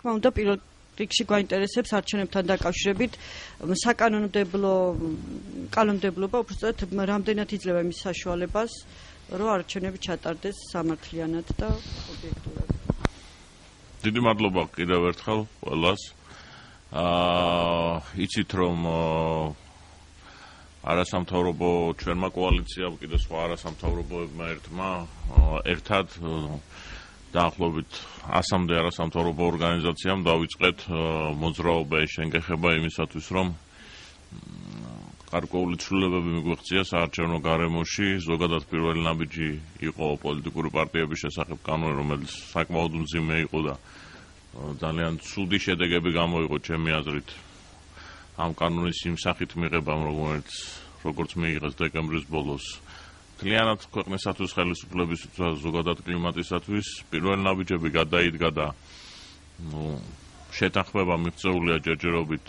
თქმა უნდა, პირველ რიგში გვაინტერესებს არჩევნებთან დაკავშირებით კანონმდებლობა, უბრალოდ რამდენად იძლევა იმის საშუალებას, რომ არჩევნები ჩატარდეს სამართლიანად და ობიექტურად. დიდი მადლობა კიდევ ერთხელ ყველას. იცით რომ არასამთავრობო ჩვენმა კოალიციამ კიდე სხვა არასამთავრობოებმა ერთად დაახლოებით 100-მდე არასამთავრობო ორგანიზაციამ დავიწყეთ მოძრაობა შენგეხება იმისათვის რომ გარკვეული ცვლილებები მიგვეღწია საარჩევნო გარემოში, ზოგადად პირველი ნაბიჯი იყო პოლიტიკური პარტიების შესახებ კანონი, რომელიც საკმაოდ მძიმე იყო და ძალიან ცუდი შედეგები გამოიღო ჩემი აზრით ამ კანონის იმ სახით მიღებამ, როგორც მიიღეს დეკემბრის ბოლოს. Მთლიანად ქვეყნისათვის ხელისუფლებისათვის, ზოგადად კლიმატისათვის პირველი ნაბიჯები გადაიდგა და შეთანხმება მიღწეულია ჯერჯერობით.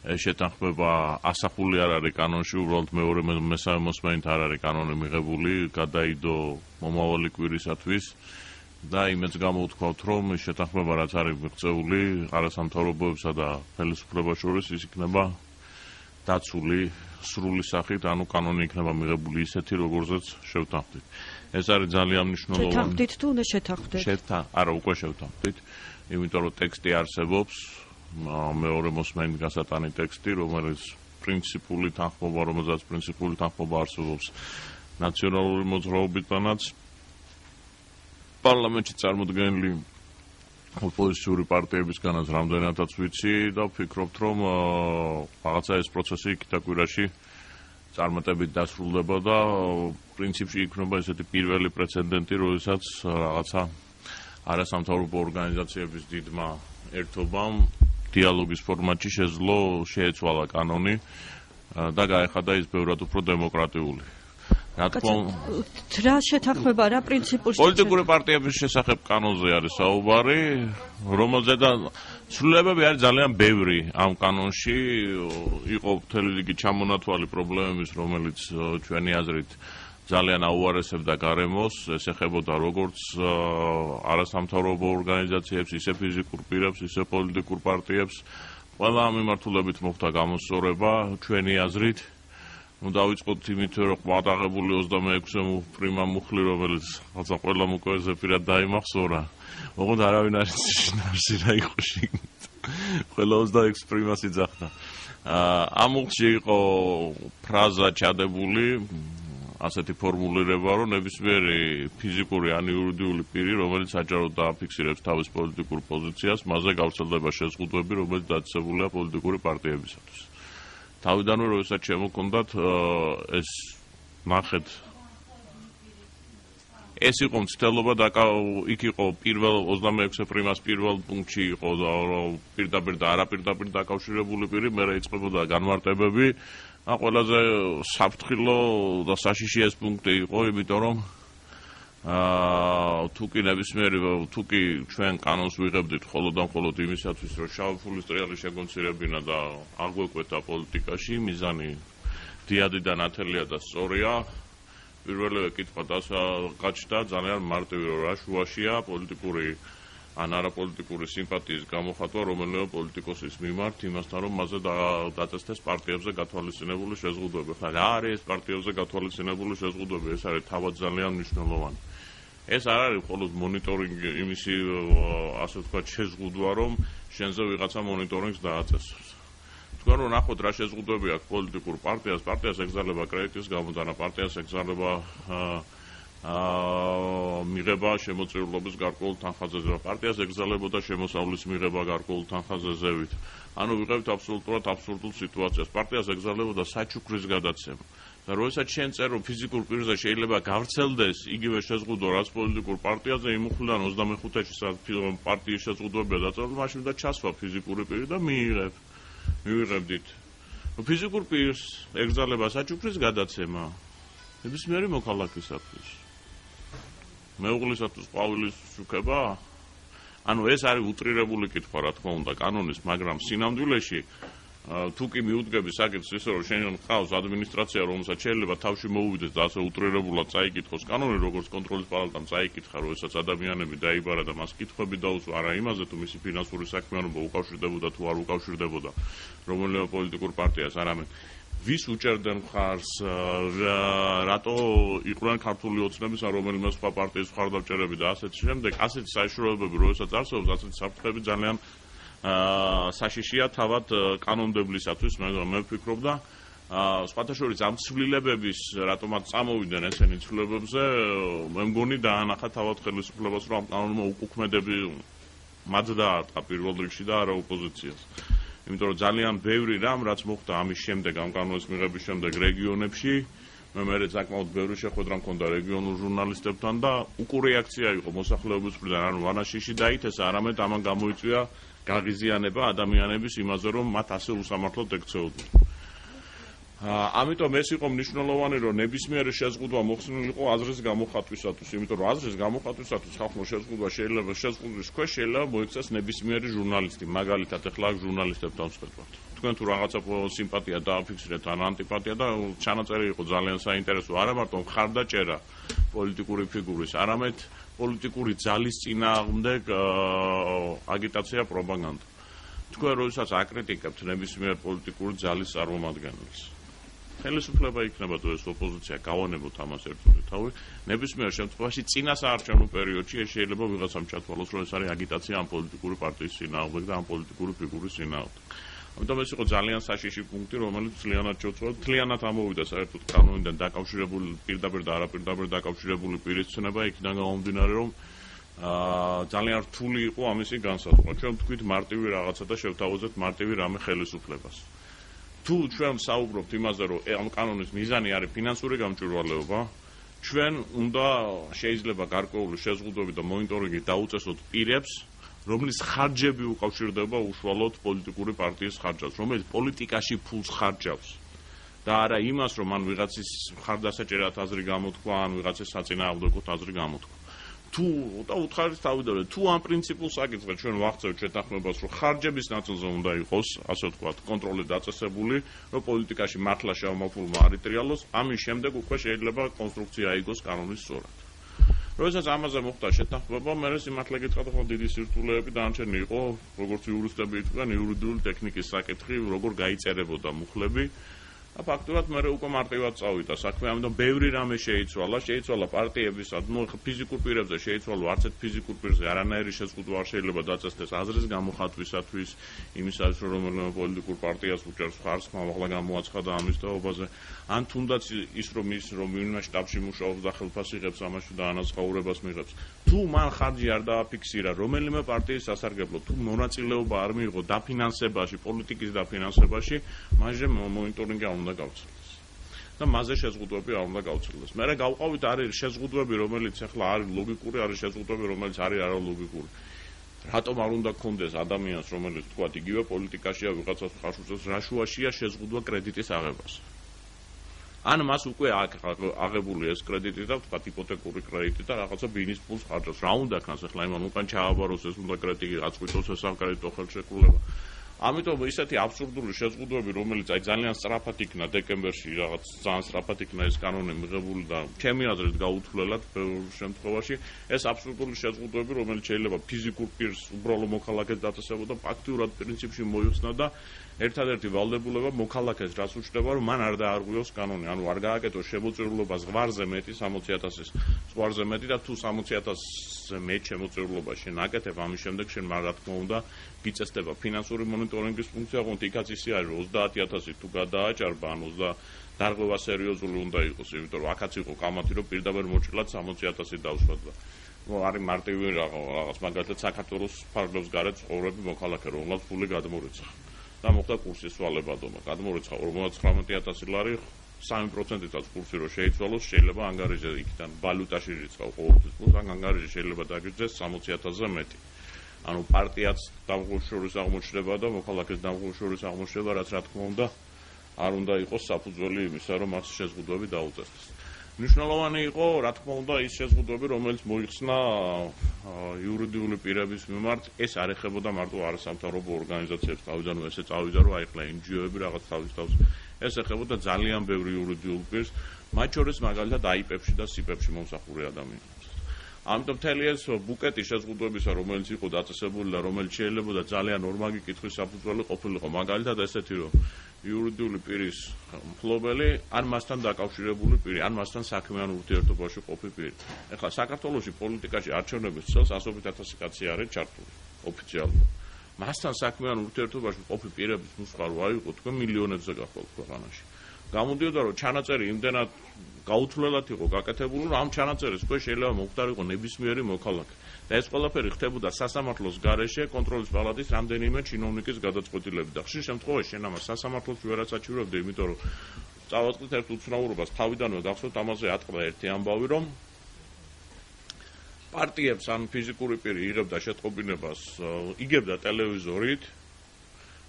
ეს შეთანხმება ასახული არ არის კანონში, უბრალოდ მეორე მესამე მოსმენით არ არის კანონი მიღებული, გადაიდო მომავალი კვირისათვის და იმედს გამოვთქვათ, რომ ეს შეთანხმება რაც არის მიღწეული არასამთავრობოებსა და ხელისუფლებას შორის ის იქნება დაცული სრული სახით, ანუ კანონი იქნება მიღებული ისეთი, როგორზეც შევთანხმდით. ეს არის ძალიან მნიშვნელოვანი. შეთანხმდით თუ უნდა შეთანხმდეთ? არა, უკვე შევთანხმდით, იმიტომ რომ ტექსტი არსებობს. მეორე მოსმენით გასატანი ტექსტი, რომელიც პრინციპული თანხმობა, რომელზეც პრინციპული თანხმობა არსებობს ნაციონალური მოძრაობიდანაც პარლამენტში წარმოდგენილი ოპოზიციური პარტიებისგანაც რამდენადაც ვიცი და ვფიქრობთ, რომ რაღაცა ეს პროცესი იქით კვირაში წარმატებით დასრულდება და პრინციპში იქნება ესეთი პირველი პრეცედენტი, როდესაც რაღაცა არასამთავრობო ორგანიზაციების დიდმა ერთობამ დიალოგის ფორმატში შეეცვალა კანონი და გაეხადა ის ბევრად უფრო დემოკრატიული. რა შეთანხმება რა პრინციპულში პოლიტიკური პარტიების შესახებ კანონზე არის საუბარი, რომელზედაც ცვლილებები არის ძალიან ბევრი ამ კანონში, იყო მთელი რიგი ჩამონათვალი პრობლემების, რომელიც ჩვენი აზრით ძალიან აუარესებდა გარემოს, ეს ეხებოდა როგორც არასამთავრობო ორგანიზაციებს, ისე ფიზიკურ პირებს, ისე პოლიტიკურ პარტიებს. ყველა ამ მიმართულებით მოხდა გამოსწორება ჩვენი აზრით. დავიწყოთ იმით, რომ ყმადაღებული 26-ე პრიმა მუხლი, რომელიც ხალხა ყველა უკვე ზეპირად დაიმახსოვრა. ოღონდ არავინ არ იცის შინაარსი რა იყო შიგნით. ყველა 26 პრიმას იძახდა. ამ მუხლში იყო ფრაზა ჩადებული, ასეთი ფორმულირება, რომ ნებისმიერი ფიზიკური ან იურიდიული პირი, რომელიც საჯაროდ დააფიქსირებს თავის პოლიტიკურ პოზიციას, მასზე გავრცელდება შეზღუდვები, რომელიც დაწესებულია პოლიტიკური პარტიებისათვის. თავიდანვე როდესაც შემოქონდათ ეს ნახეთ ეს იყო მცდელობა და იქ იყო პირველ 26 პრიმას პირველ პუნქტში იყო პირდაპირ და არაპირდაპირ დაკავშირებული პირი, მერე იწყებოდა განმარტებები. ყველაზე საფრთხილო და საშიში ეს პუნქტი იყო, იმიტომ რომ თუ კი ჩვენ კანონს ვიღებდით მხოლოდ და მხოლოდ იმისათვის, რომ შავი ფულის ტრიალი შეგონცირებინა და აგვეკვეთა პოლიტიკაში, მიზანი დიადი და ნათელია და სწორია. პირველივე კითხვა დასაგაჩნდა ძალიან მარტივი, რომ რა შუაშია პოლიტიკური ან არაპოლიტიკური სიმპათიის გამოხატვა რომელიმე პოლიტიკოსის მიმართ იმასთან, რომ მასზე დაწესდეს პარტიებზე გათვალისწინებული შეზღუდვები. ხა რა არის ეს პარტიებზე გათვალისწინებული შეზღუდვები? ეს არის თავად ძალიან მნიშვნელოვანი. ეს არ არის მხოლოდ მონიტორინგი, იმისი ასე ვთქვათ შეზღუდვა, რომ შენზე ვიღაცა მონიტორინგს დააწესოს. თქვენ რომ ნახოთ რა შეზღუდვები აქვს პოლიტიკურ პარტიას ეგზალება კრედიტის გამოდანა, პარტიას ეგზალება მიღება შემოწირულობის გარკვეულ თანხაზეზე, პარტიას ეგზალებოდა შემოსავლის მიღება გარკვეულ თანხაზეზევით. ანუ ვიღებთ აბსოლუტურად აბსურდულ სიტუაციას. პარტიას ეგზალებოდა საჩუქრის გადაცემა. და როდესაც შენ წერ რომ ფიზიკურ პირზე შეიძლება გავრცელდეს იგივე შეზღუდვა, რაც პოლიტიკურ პარტიაზე, იმ მუხლიდან 25-ში პარტიის შეზღუდვებია დაწერილი, მაშინ და ჩასვა ფიზიკური პირი და მივიღებდით. ფიზიკურ პირს ეგზალება საჩუქრის გადაცემა ნებისმიერი მოქალაქისათვის. მეუღლისათვის ყვავილის შუქება? ანუ ეს არის უტრირებული კითხვა, რა თქმა უნდა, კანონის, მაგრამ სინამდვილეში თუ კი მიუდგები საკითხს ისე რომ შენ ხავს ადმინისტრაცია რომელსაც შეიძლება თავში მოუვიდეს და ასე უტრირებულად წაიკითხოს კანონი როგორც კონტროლის პალატამ წაიკითხა როდესაც ადამიანები დაიბარა და მას კითხვები დაუსვა არა იმაზე თუ მისი ფინანსური საქმიანობა უკავშირდებოდა თუ არ უკავშირდებოდა რომელიმე პოლიტიკურ პარტიას არამედ ვის უჭერდნენ მხარს რატო იყვნენ ქართული ოცნების ან რომელიმე სხვა პარტიის მხარდამჭერები და ასეთ შემდეგ ასეთი საშუალებები როდესაც არსებობს ასეთი საფრთხეები ძალიან საშიშია თავად კანონმდებლისათვის მე ვფიქრობ და სხვათა შორის ამ ცვლილებების რატომაც წამოვიდნენ ესენი ცვლილებებზე მე მგონი დაანახა თავად ხელისუფლებას რომ ამ კანონმა უკუქმედები მათ დაარტყა პირველ რიგში და არა ოპოზიციას იმიტომ რომ ძალიან ბევრი რამ რაც მოხდა ამის შემდეგ ამ კანონის მიღების შემდეგ რეგიონებში მე საკმაოდ ბევრი შეხვედრა მქონდა რეგიონულ ჟურნალისტებთან და უკურეაქცია იყო მოსახლეობის მხრიდან ანუ ვანაშიში დაითესა არამედ ამან გამოიწვია გაღიზიანება ადამიანების იმაზე რომ მათ ასე უსამართლოდ ექცეოდნენ. ამიტომ ეს იყო მნიშვნელოვანი რომ ნებისმიერი შეზღუდვა მოხსნილიყო აზრის გამოხატვისათვის, იმიტომ რომ აზრის გამოხატვისათვის ხალხმა შეზღუდვა შეიძლება შეზღუდვის ქვეშ შეიძლება მოიქცეს ნებისმიერი ჟურნალისტი, მაგალითად ახლა აქ ჟურნალისტებთან ვსწრებთ. თქვენ თუ რაღაცა სიმპათია დააფიქსირეთ ან ანტიპათია და ჩანაწერი იყო ძალიან საინტერესო, არა მარტო მხარდაჭერა პოლიტიკური ფიგურის, არამედ პოლიტიკური ძალის წინააღმდეგ აგიტაცია პროპაგანდა. თქვენ როდესაც აკრიტიკებთ ნებისმიერ პოლიტიკური ძალის წარმომადგენელს ხელისუფლება იქნება თუ ეს ოპოზიცია გავანებოთ ამას ერთგვარი თავი ნებისმიერ შემთხვევაში წინა საარჩევნო პერიოდში ეს შეიძლება ვიღაცამ ჩათვალოს რომ ეს არის აგიტაცია ამ პოლიტიკური პარტიის წინააღმდეგ და ამ პოლიტიკური ფიგურის წინააღმდეგ. ამიტომ ეს იყო ძალიან საშიში პუნქტი რომელიც ძალიანად შეუცვალა ძალიანად ამოვიდა საერთოდ კანონიდან დაკავშირებული პირდაპირ და არაპირდაპირ დაკავშირებული პირის ცნება იქიდან გამომდინარე რომ ძალიან რთული იყო ამისი განსაზღვრა. ჩვენ ვთქვით მარტივი რაღაცა და შევთავაზეთ მარტივი რამე ხელისუფლებას. თუ ჩვენ საუბრობთ იმაზე, რომ ამ კანონის მიზანი არის ფინანსური გამჭვირვალეობა, ჩვენ უნდა შეიძლება გარკვეული შეზღუდვები და მონიტორინგი დაუწესოთ პირებს, რომლის ხარჯები უკავშირდება უშუალოდ პოლიტიკური პარტიის ხარჯავს, რომელიც პოლიტიკაში ფულს ხარჯავს. და არა იმას, რომ მან ვიღაცის მხარდასაჭერად აზრი გამოთქვა, ან ვიღაცის საწინააღმდეგოდ აზრი გამოთქვა. თუ და უთხარის თავიდანვე თუ ამ პრინციპულს აკითხეთ ჩვენ ვახცევთ შეთანხმებას რომ ხარჯების ნაწილზე უნდა იყოს ასე ვთქვათ კონტროლი დაწესებული რომ პოლიტიკაში მართლა შევამოწმულმა არიტრიალოს ამის შემდეგ უკვე შეიძლება კონსტრუქცია აიგოს კანონის სწორად როდესაც ამაზე მოხდა შეთანხმება მე სიმართლე გითხრათ ხო დიდი სირთულეები დანარჩენი იყო როგორც იურისტები იყვნენ იურიდიული ტექნიკის საკითხი როგორ გაიწერებოდა მუხლები ფაქტურად მე უკვე მარტივად წავიდა საქმე, ამიტომ ბევრი რამე შეიცვალა პარტიების, ну ფიზიკურ პირებზე შეიცვალა არც ერთ ფიზიკურ პირზე არანაირი შეზღუდვა არ შეიძლება დაწესდეს აზრის გამოხატვისათვის, იმისათვის რომ რომელიმე პოლიტიკურ პარტიას უჭერს ხარს, ახლა გამოაცხადა ამის თაობაზე, ან თუნდაც ის რომ ვინმე შტაბში მუშაობს და ხელფასს იღებს ამაში და ანაზღაურებას მიიღებს. თუ მან ხარჯი არ დააფიქსირა რომელიმე პარტიის სასარგებლოდ, თუ მონაწილეობა არ მიიღო დაფინანსებაში, პოლიტიკის დაფინანსებაში, მაშინ მონიტორინგი არ უნდა გავცელდეს. და მასზე შეზღუდვები არ უნდა გავცელდეს. მე გავყავით არის შეზღუდვები, რომელიც ახლა არის ლოგიკური, არის შეზღუდვები, რომელიც არის არალოგიკური. რატომ არ უნდა გქონდეს ადამიანს, რომელიც თქვა იგივე პოლიტიკაშია ვიღაცას ხარს უწევს, რა შუაშია შეზღუდვა კრედიტის აღებას. ან მას უკვე აღებული ეს კრედიტი და თქვა იპოთეკური კრედიტი და რაღაცა ბინის ფულს ხარჯავს. რა უნდა ქნას ახლა იმან უკან ჩააბაროს ეს უნდა კრედიტი აწყვიტოს ეს საკრედიტო ხელშეკრულება. ამიტომ ისეთი აბსურდული შეზღუდვები, რომელიც აი ძალიან სწრაფად იქნა დეკემბერში, რაღაც ძალიან სწრაფად იქნა ეს კანონი მიღებული და ჩემი აზრით გაუთვლელად ბევრ შემთხვევაში ეს აბსურდული შეზღუდვები, რომელიც შეიძლება ფიზიკურ პირს უბრალო მოქალაქეს დაწესებოდა, ფაქტიურად პრინციპში მოიხსნა და ერთადერთი ვალდებულება მოქალაქეს რაც უჩნდება, რომ მან არ დაარღვიოს კანონი, ანუ არ გააკეთოს შემოწირულობა ზღვარზე მეტი 60,000-ის ზღვარზე მეტი და თუ 60,000-ზე მეტ შემოწირულობა შენ აკეთებ, ამის შემდეგ შენ რა თქმა უნდა გიწესდება ფინანსური მონიტორინგის ფუნქცია, თუმცა იქაც ისე არის 30,000 თუ გადააჭარბა, ან დარღვევა სერიოზული უნდა იყოს, იმიტომ რომ აქაც იყო კამათი, რომ პირდაპირ მოჭრილად 60,000 დავსვათ და არის მარტივი რაღაც მაგალითად საქართველოს ფარგლებს გარეთ ცხოვრები მოქალაქე, რომელსაც ფული გადმორიცხა. და მოხდა კურსის სვალება დომა. გადმორიცხა 59,000 ლარი 3%-ით კურსი რო შეიცვალოს, შეიძლება ანგარიჟზე იქიდან ვალუტაში რიცხავ ყოველთვის ფულს, ან ანგარიჟი შეიძლება დაგიჯდეს 60,000-ზე მეტი. ანუ პარტიაც დამღუშურის აღმოჩნდება და მოქალაქეს დამღუშურის აღმოჩნდება, რაც რა თქმა უნდა არ უნდა იყოს საფუძველი იმისა, რომ მას შეზღუდვები დაუწესდეს. მნიშვნელოვანი იყო, რა თქმა უნდა, ის შეზღუდვები, რომელიც მოიხსნა იურიდიული პირების მიმართ, ეს არ ეხებოდა მარტო არასამთავრობო ორგანიზაციებს, თავიდან ესე წავიდა, რომ აიხლა NGO-ები რაღაც თავის ეს ეხებოდა ძალიან ბევრი იურიდიულ პირს, მათ შორის მაგალითად IP-ებში და SIP-ებში მომსახურე ადამიანებს. ამიტომ მთელი ეს ბუკეტი შეზღუდვებისა, რომელიც იყო დაწესებული და რომელიც შეიძლებოდა ძალიან ორმაგი კითხვის საფუძველი ყოფილიყო, მაგალითად ესეთი, რომ იურიდიული პირის მფლობელი ან მასთან დაკავშირებული პირი, ან მასთან საქმიან ურთიერთობაში ყოფი პირი. ეხლა საქართველოში პოლიტიკაში არჩევნების წელს 100,000 კაცი არის ჩართული ოფიციალურად. მასთან საქმიან ურთიერთობაში ყოფი პირების ნუსხა რო აიღო, თქვენ მილიონებზე გახვალთ ქვეყანაში. გამოდიოდა, რომ ჩანაწერი იმდენად გაუთვლელად იყო გაკეთებული, რომ ამ ჩანაწერის ქვეშ შეიძლება მოხდარიყო ნებისმიერი მოქალაქე. და ეს ყველაფერი ხდებოდა სასამართლოს გარეშე კონტროლის პალატის რამდენიმე ჩინოვნიკის გადაწყვეტილებით. და ხშირ შემთხვევაში შენ ამას სასამართლოს ვერაც აჩვენებდი, იმიტომ რომ წავაწყდით ერთ უცნაურობას თავიდანვე გახსოვთ ამაზე ატყდა ერთი ამბავი, რომ პარტიებს ან ფიზიკური პირი იღებდა შეტყობინებას, იგებდა ტელევიზორით,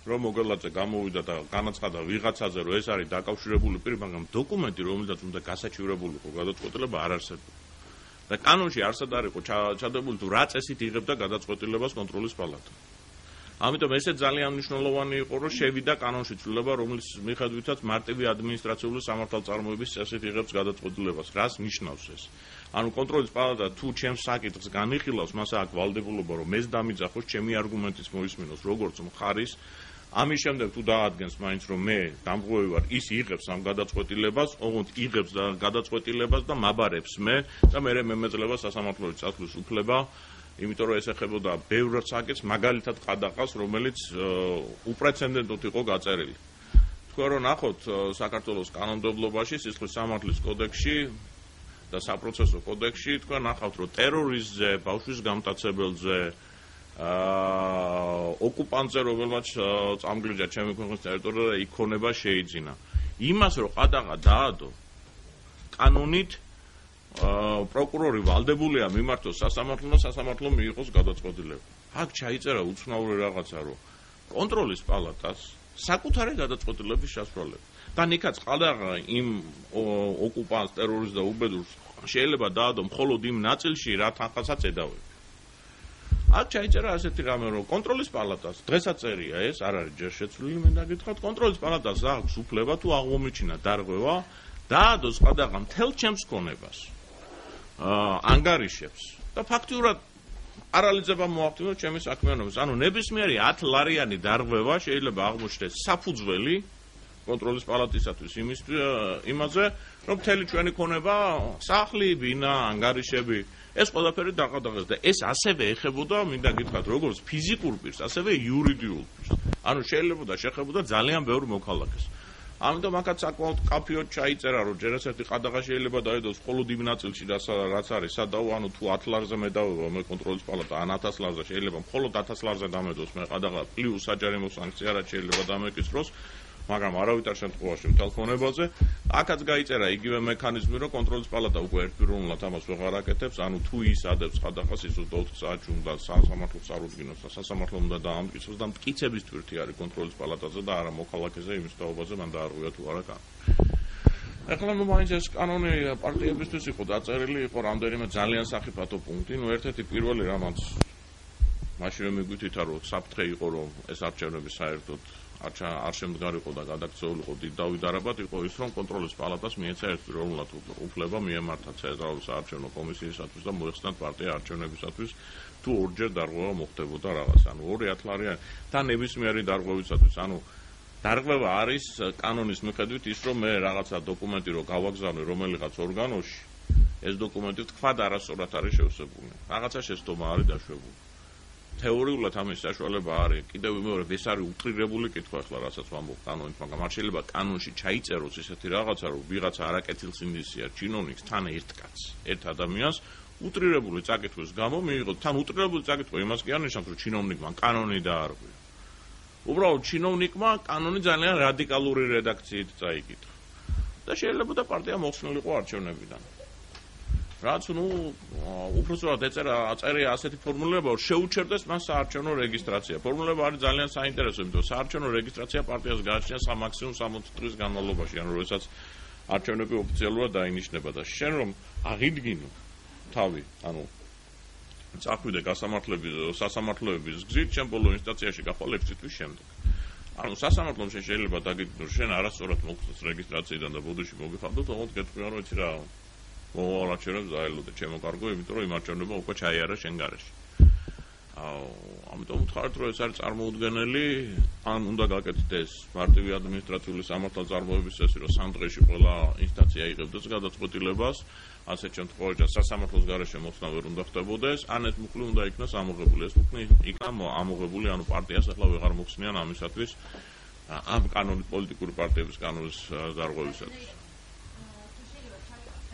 რომ მოგელაძე გამოვიდა და განაცხადა ვიღაცაზე, რომ ეს არის დაკავშირებული პირი, მაგრამ დოკუმენტი, რომელზეც უნდა გასაჩივრებულიყო გადაწყვეტილება, არ არსებობდა. და კანონში არსად არ იყო ჩადებული, თუ რა წესით იღებდა გადაწყვეტილებას კონტროლის პალატა. ამიტომ ესე ძალიან მნიშვნელოვანი იყო, რომ შევიდა კანონში ცვლილება, რომლის მიხედვითაც მარტივი ადმინისტრაციული სამართალწარმოების წესით იღებს გადაწყვეტილებას. რას ნიშნავს ეს? ანუ კონტროლის პალატა თუ ჩემს საკითხს განიხილავს, მას აქვს ვალდებულობა, რომ ეს დამიძახოს, ჩემი არგუმენტიც მოისმინოს, როგორც მხარის. ამის შემდეგ თუ დაადგენს მაინც რომ მე დამღვევი ვარ, ის იღებს ამ გადაწყვეტილებას, ოღონდ იღებს გადაწყვეტილებას და მაბარებს მე და მე მეძლევა სასამართლოების წასვლის უფლება, იმიტომ რომ ეს ეხებოდა ბევრ საკითხს, მაგალითად ყადაყას, რომელიც უპრეცედენტოდ იყო გაწერილი. თქვენ რომ ნახოთ საქართველოს კანონმდებლობაში, სისხლის სამართლის კოდექსში და საპროცესო კოდექსში, თქვენ ნახავთ რომ ტერორიზმზე, ბავშვის გამტაცებელზე ოკუპანტზე, რომელმაც წამგლიჯა ჩემი ქვეყნის ტერიტორიაზე იქონება შეიძინა. იმას რომ ყადაღა დაადო კანონით პროკურორი ვალდებულია მიმართოს სასამართლომ და სასამართლომ მიიღოს გადაწყვეტილება. აქ ჩაიწერა უცნაური რაღაცა, რომ კონტროლის პალატას საკუთარი გადაწყვეტილების შესრულება. და ნიკაც ყადაღა იმ ოკუპანტს, ტერორისტს და უბედურს შეიძლება დაადო მხოლოდ იმ ნაწილში, რა თანხასაც ედავება. აქ ჩაიწერა ასეთი რამე, რომ კონტროლის პალატას დღესაც წერია ეს, არ არის ჯერ შეცვლილი, მე დაგითხრათ, კონტროლის პალატას აქვს უფლება თუ აღმომიჩინა დარღვევა, დაადოს ყადაღა მთელ ჩემს ქონებას, ანგარიშებს და ფაქტიურად პარალიზება მოახდინოს ჩემი საქმიანობას. ანუ ნებისმიერი 10 ლარიანი დარღვევა შეიძლება აღმოჩნდეს საფუძველი კონტროლის პალატისათვის იმაზე, რომ მთელი ჩვენი ქონება, სახლი, ბინა, ანგარიშები, ეს ყველაფერი დაყადაღეს და ეს ასევე ეხებოდა, მინდა გითხრათ, როგორც ფიზიკურ პირს, ასევე იურიდიულ პირს. ანუ შეიძლება შეხებოდა ძალიან ბევრ მოქალაქეს. ამიტომ აქაც საკმაოდ კაფეოდ ჩაიწერა, რომ ჯერ ერთი ყადაღა შეიძლება დაედოს მხოლოდ იმ ნაწილში, რაც არის სადაო, ანუ თუ 10 ლარზე მედავება მე კონტროლის პალატა, ან 1000 ლარზე შეიძლება მხოლოდ 1000 ლარზე დამედოს მე ყადაღა პლუს საჯარიმო სანქცია, რაც შეიძლება დამეკისროს, მაგრამ არავითარ შემთხვევაში მთელ ქონებაზე. აქაც გაიწერა იგივე მექანიზმი, რომ კონტროლის პალატა უკვე ერთპიროვნულად ამას ვეღარ აკეთებს, ანუ თუ ის ადებს ყადაღას, ის 24 საათში უნდა სასამართლოს წარუდგინოს და სასამართლო უნდა დაამტკიცოს და მტკიცების თვირთი არის კონტროლის პალატაზე და არა მოქალაქეზე იმის თაობაზე მან დაარღვია თუ არა კანონი. ეხლა მაინც ეს კანონი პარტიებისთვის იყო დაწერილი, იყო რამდენიმე ძალიან სახიფათო პუნქტი, ერთ-ერთი პირველი რამაც მაშინ რომ მიგვითითა, რომ საფრთხე იყო, რომ ეს არჩევნები საერთოდ არ შემდგარიყო და გადაქცეულიყო დიდ დავით იყო ის, რომ კონტროლის პალატას მიეცა ერთპიროვნულად უფლება მიემართა ცენტრალური საარჩევნო კომისიისათვის და მოეხსნათ პარტია არჩევნებისათვის, თუ ორჯერ დარღვევა მოხდებოდა რაღაც, ანუ 2 ლარიანი და ნებისმიერი დარღვევისათვის, ანუ დარღვევა არის კანონის მიხედვით ის, რომ მე რაღაცა დოკუმენტი რო გავაგზავნე რომელიღაც ორგანოში, ეს დოკუმენტი თქვა და არასწორად არის შევსებული. რაღაცა შეცდომა არის დაშვებული. თეორიულად ამის საშუალება არის, კიდევ მეორე ეს არის უტრირებული კითხვა ახლა, რასაც ვამბობ კანონით, მაგრამ არ შეიძლება კანონში ჩაიწეროს ესეთი რაღაცა, რომ ვიღაცა არაკეთილ სინდისია ჩინოვნიკს თან ერთ კაცს, ერთ ადამიანს უტრირებული წაკითხვის გამო მიიღო. თან უტრირებული წაკითხვა იმას კი არ ნიშნავს, რომ ჩინოვნიკმა კანონი დაარღვია. უბრალოდ ჩინოვნიკმა კანონი ძალიან რადიკალური რედაქციით წაიკითხა. და შეიძლება და პარტია მოხსნილიყო არჩევნებიდან. რაც უпроსტად აწერია ასეთი ფორმულირება, რომ შეუჩერდეს მას საარჩევნო რეგისტრაცია. ფორმულირება არის ძალიან საინტერესო, იმიტომ რომ საარჩევნო რეგისტრაცია პარტიას გააჩნია სამაქსიმუმ 60 დღის განმავლობაში, ანუ როდესაც არჩევნები ოფიციალურად დაინიშნება და შენ რომ აღიდგინო თავი, ანუ წახვიდე სასამართლოების გზით, შენ ბოლო ინსტანციაში გახვალ 6 თვის შემდეგ. ანუ სასამართლომ შეიძლება დაგიდგინო, შენ არასწორად მოგწეს რეგისტრაციიდან და ბოდიში მოგიხავდო, თუმცა გეტყვია რომ იცი რა, მოვალ არჩევნებს დაელოდე, ჩემო კარგო, იმიტომ რომ იმ არჩევნებმა უკვე ჩაიარა შენ გარეშე. ამიტომ ვთქვათ, რომ ეს არის წარმოუდგენელი, ან უნდა გაკეთდეს ეს მარტივი ადმინისტრაციული სამართალწარმოების წესი, რომ 3 დღეში ყველა ინსტანცია იღებდეს გადაწყვეტილებას, ასეთ შემთხვევაში სასამართლოს გარეშე მოხსნა ვერ უნდა ხდებოდეს, ან ეს მუხლი უნდა იქნას ამოღებული. ეს მუხლი იქნა ამოღებული, ანუ პარტიას ახლა ვეღარ მოხსნიან ამისათვის, ამ კანონის პოლიტიკური პარტიების კანონის დარღვევისათვის.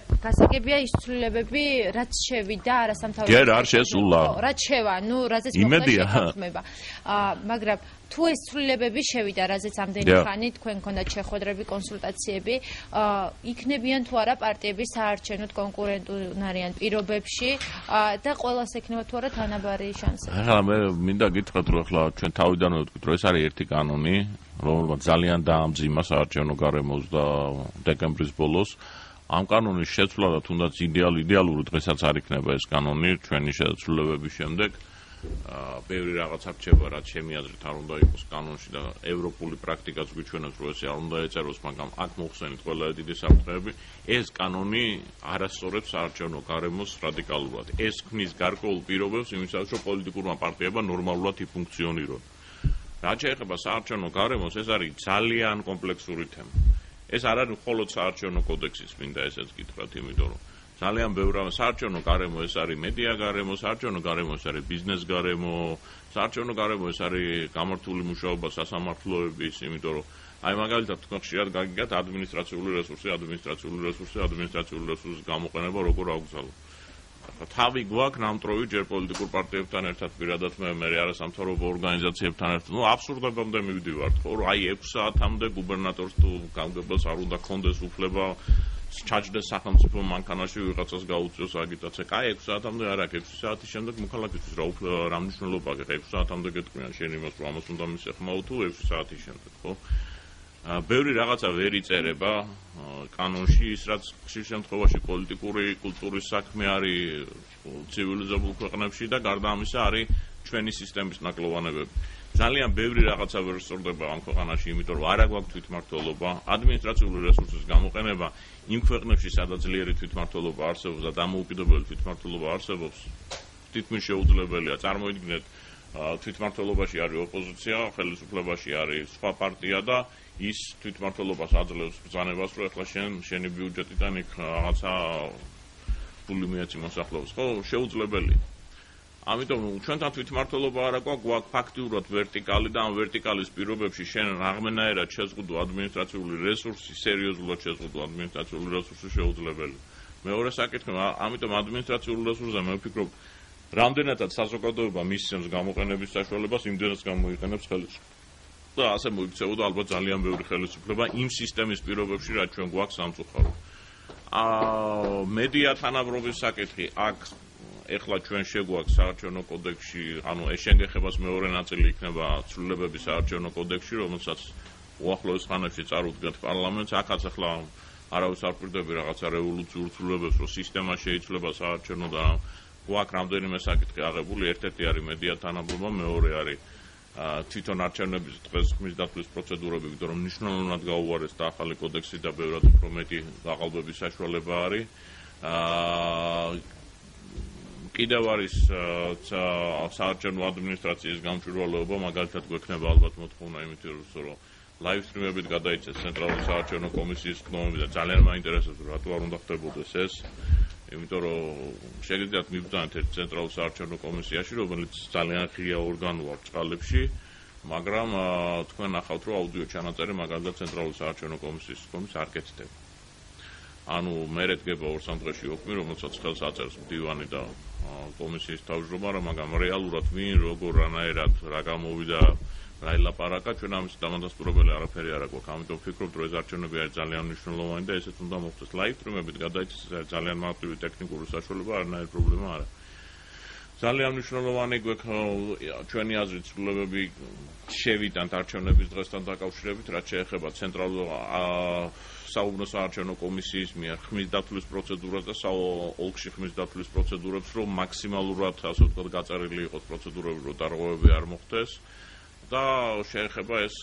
გასაგებია ის ცვლილებები, რაც შევიდა არასამთავრობო. ჯერ არ შესულა. რაც შევა, ნუ რაზეც მოხდა. მაგრამ თუ ეს ცვლილებები შევიდა, რაზეც ამდენი ხანი თქვენ გქონდათ შეხვედრები, კონსულტაციები, იქნებიან თუ არა პარტიები საარჩევნოდ კონკურენტუნარიან პირობებში და ყველას ექნება თუ არა თანაბარი შანსი. ახლა მე მინდა გითხრათ, რომ ახლა ჩვენ თავიდანვე ვთქვით, რომ ეს არის ერთი კანონი, რომელმაც ძალიან დაამძიმა საარჩევნო გარემოს და დეკემბრის ბოლოს. ამ კანონის შეცვლა და თუნდაც იდეალური დღესაც არ იქნება ეს კანონი ჩვენი შეცვლებების შემდეგ. ბევრი რაღაცა რჩება, რაც ჩემი აზრით არ უნდა იყოს კანონში და ევროპული პრაქტიკაც გვიჩვენებს, რომ ესე არ უნდა ეწეროს, მაგრამ აქ მოხსენით ყველა დიდი საფრთხეები. ეს კანონი არასწორებს საარჩევნო გარემოს რადიკალურად. ეს ქმნის გარკვეულ პირობებს იმისათვის, რომ პოლიტიკურმა პარტიებმა ნორმალურად იფუნქციონირონ. რაც შეეხება საარჩევნო გარემოს, ეს არის ძალიან კომპლექსური თემა. ეს არ არის მხოლოდ საარჩევნო კოდექსის მინდა ესეც გითხრათ, იმიტომ რომ ძალიან ბევრი საარჩევნო გარემო, ეს არის მედია გარემო, საარჩევნო გარემო, ეს არის ბიზნეს გარემო, საარჩევნო გარემო, ეს არის გამართული მუშაობა სასამართლოების, იმიტომ რომ აი მაგალითად თქვენ ხშირად გაგიგათ ადმინისტრაციული რესურსის გამოყენება როგორ აგზავნა. თავი გვაქვს ნამტვრევი ჯერ პოლიტიკურ პარტიებთან ერთად, პირადად მე არასამთავრობო ორგანიზაციებთან ერთად. ნუ აბსურდებამდე მივდივართ, ხო, რომ აი 6 საათამდე გუბერნატორს თუ გამგებელს არ უნდა კონდეს უფლება ჩაჯდეს სახელმწიფო მანქანაში ვიღაცას გაუწიოს აგიტაცია. კაი 6 საათამდე არ აქვს, 6 საათის შემდეგ მოქალაქისთვის რა მნიშვნელობა აქვს? 6 საათამდე გეტყვიან შენ იმას, რომ ამას უნდა მისეხმაო თუ 6 საათის შემდეგ, ხო? ბევრი რაღაცა ვერ იწერება კანონში, ის რაც ხშირ შემთხვევაში პოლიტიკური კულტურის საქმე არის ცივილიზებულ ქვეყნებში და გარდა ამისა არის ჩვენი სისტემის ნაკლოვანებები. ძალიან ბევრი რაღაცა ვერ სწორდება ამ ქვეყანაში, იმიტომ რომ არ აქვს თვითმმართველობა, ადმინისტრაციული რესურსის გამოყენება იმ ქვეყნებში, სადაც ძლიერი თვითმმართველობა არსებობს და დამოუკიდებელი თვითმმართველობა არსებობს, თითქმის შეუძლებელია. წარმოიდგინეთ, თვითმმართველობაში არის ოპოზიცია, ხელისუფლებაში არის სხვა პარტია და ის თვითმმართველობას აძლევს ბრძანებას, რომ ახლა შენი ბიუჯეტიდან იქ რაღაცა ფული მიეცი მოსახლეობას, ხო, შეუძლებელია. ამიტომ ჩვენთან თვითმმართველობა არ აქვს ფაქტიურად ვერტიკალი და ამ ვერტიკალის პირობებში შენ რაღაცნაირად შეზღუდო ადმინისტრაციული რესურსი, სერიოზულად შეზღუდო ადმინისტრაციული რესურსი შეუძლებელი. მეორე საკითხი, ამიტომ ადმინისტრაციული რესურსზე მე ვფიქრობ, რამდენადაც საზოგადოება მისცემს გამოყენების საშუალებას, იმდენად გამოიყენებს ხელისუფლება. და ასე მოიქცეოდა ალბათ ძალიან ბევრი ხელისუფლება იმ სისტემის პირობებში, რაც ჩვენ გვაქვს სამწუხაროდ. მედია თანაბრობის საკითხი აქ ეხლა ჩვენ შეგვაქვს საარჩევნო კოდექსში, ანუ ეს შეგეხებას მეორე ნაწილი იქნება ცვლილებების საარჩევნო კოდექსში, რომელსაც უახლოეს ხანებში წარუდგათ პარლამენტს. აქაც ახლა არავის არ პირდები რაღაცა რევოლუციურ ცვლილებებს, რომ სისტემა შეიძლება საარჩევნო და გვაქვს რამდენიმე საკითხი აღებული. ერთ-ერთი არის მედია თანაბრობა, მეორე არის თვითონ არჩევნების დღესდღეობის დათვლის პროცედურები, იმიტომ რომ მნიშვნელოვნად გაუარეს და ახალი კოდექსი და ბევრად უფრო მეტი გაყალბების საშუალება არის. კიდევ არის საარჩევნო ადმინისტრაციის გამჭვირვალეობა, მაგალითად გვექნება ალბათ მოთხოვნა იმით, რომ ლაივ სტრიმებით გადაიცეს ცენტრალური საარჩევნო კომისიის ხდომები და ძალიან მაინტერესებს, რატო არ უნდა ხდებოდეს ეს. იმიტომ რომ შეგიძლიათ მიბრძანეთ ერთ ცენტრალურ საარჩევნო კომისიაში, რომელიც ძალიან ღია ორგანოა ბრწყალებში, მაგრამ თქვენ ნახავთ, რომ აუდიო ჩანაწერი მაგალითად ცენტრალურ საარჩევნო კომისიის არ კეთდება. ანუ მე დგება 2-3 დღეში ოქმი, რომელსაც ხელს აწერს მდივანი და კომისიის თავმჯდომარე, მაგრამ რეალურად ვინ, როგორ, რანაირად, რა გამოვიდა, რა ელაპარაკა, ჩვენ ამის დამადასტურებელი არაფერი არ აქვს. ამიტომ ვფიქრობ, რომ ეს არჩევნები არის ძალიან მნიშვნელოვანი და ესეც უნდა მოხდეს. ლაივ სტრიმებით გადაიცეს, ეს არის ძალიან მარტივი ტექნიკური საშუალება, არანაირი პრობლემა არ აქვს. ძალიან მნიშვნელოვანი გვექნება ჩვენი აზრით ცვლილებები შევიტანთ არჩევნების დღესთან დაკავშირებით, რაც შეეხება ცენტრალურ საუბნო საარჩევნო კომისიის მიერ ხმის დათვლის პროცედურას და ოლქში ხმის დათვლის პროცედურებს, რომ მაქსიმალურად, ასე ვთქვათ, გაწერილი იყოს პროცედურები, რომ დარღვევები არ მოხდეს. და შეეხება ეს,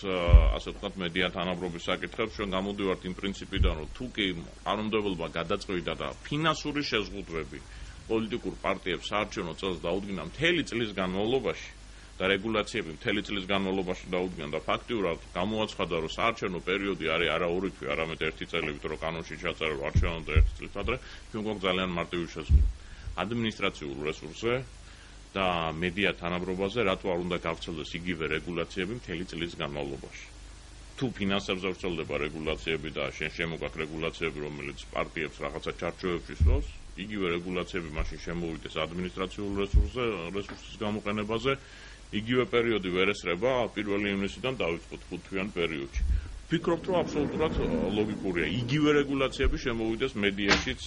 ასე ვთქვათ, მედია თანაბრობის საკითხებს, ჩვენ გამოდივართ იმ პრინციპიდან, რომ თუ კი კანონმდებლობა გადაწყვიტა და ფინანსური შეზღუდვები პოლიტიკურ პარტიებს საარჩევნო წელს დაუდგინა მთელი წლის განმავლობაში და რეგულაციები მთელი წლის განმავლობაში დაუდგინა და ფაქტიურად გამოაცხადა, რომ საარჩევნო პერიოდი არის არა 2 თვე, არამედ 1 წელი, ვით რომ კანონში ჩაწერა, რომ არჩევნო და 1 წელს ადრე, ჩვენ გვაქვს ძალიან მარტივი შეზღუდვა. ადმინისტრაციულ რესურსზე და მედია თანაბრობაზე რატო არ უნდა გავრცელდეს იგივე რეგულაციები მთელი წლის განმავლობაში. თუ ფინანსებზე ვრცელდება რეგულაციები და შემოგაქვს რეგულაციები, რომელიც პარტიებს რაღაცა ჩარჩოებში სვავს, იგივე რეგულაციები მაშინ შემოვიდეს ადმინისტრაციულ რესურსის გამოყენებაზე, იგივე პერიოდი ვერ ესრება 1 ივნისიდან დავიწყოთ 5 თვიან პერიოდში. ვფიქრობთ, რომ აბსოლუტურად ლოგიკურია. იგივე რეგულაციები შემოვიდეს მედიაშიც,